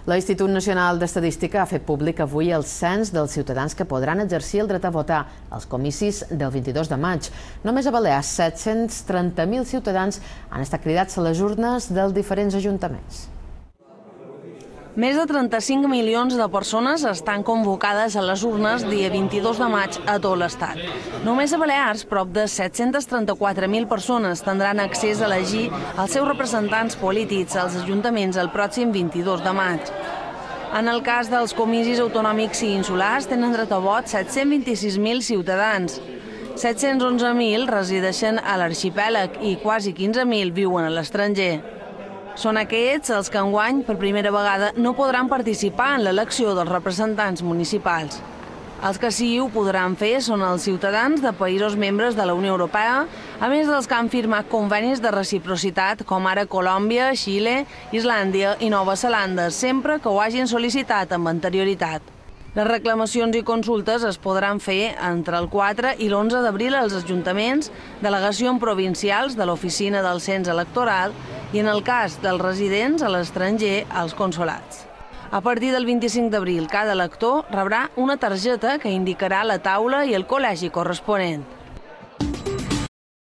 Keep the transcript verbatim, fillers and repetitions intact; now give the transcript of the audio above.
L'Institut Nacional d'Estadística ha fet públic avui el cens dels ciutadans que podran exercir el dret a votar als comicis del vint-i-dos de maig. Només a Balears, set-cents trenta mil ciutadans han estat cridats a les urnes dels diferents ajuntaments. Més de trenta-cinc milions de persones estan convocades a les urnes dia vint-i-dos de maig a tot l'Estat. Només a Balears, prop de set-cents trenta-quatre mil persones tindran accés a elegir els seus representants polítics als ajuntaments el pròxim vint-i-dos de maig. En el cas dels comicis autonòmics i insulars, tenen dret a vot set-cents vint-i-sis mil ciutadans. set-cents onze mil resideixen a l'arxipèlag i quasi quinze mil viuen a l'estranger. Són aquests els que enguany, per primera vegada, no podran participar en l'elecció dels representants municipals. Els que sí ho podran fer són els ciutadans de països membres de la Unió Europea, a més dels que han firmat convenis de reciprocitat, com ara Colòmbia, Xile, Islàndia i Nova Zelanda, sempre que ho hagin sol·licitat amb anterioritat. Les reclamacions i consultes es podran fer entre el quatre i l'onze d'abril als ajuntaments, delegacions provincials de l'Oficina del Cens Electoral i, en el cas dels residents a l'estranger, als consolats. A partir del vint-i-cinc d'abril, cada elector rebrà una targeta que indicarà la taula i el col·legi corresponent.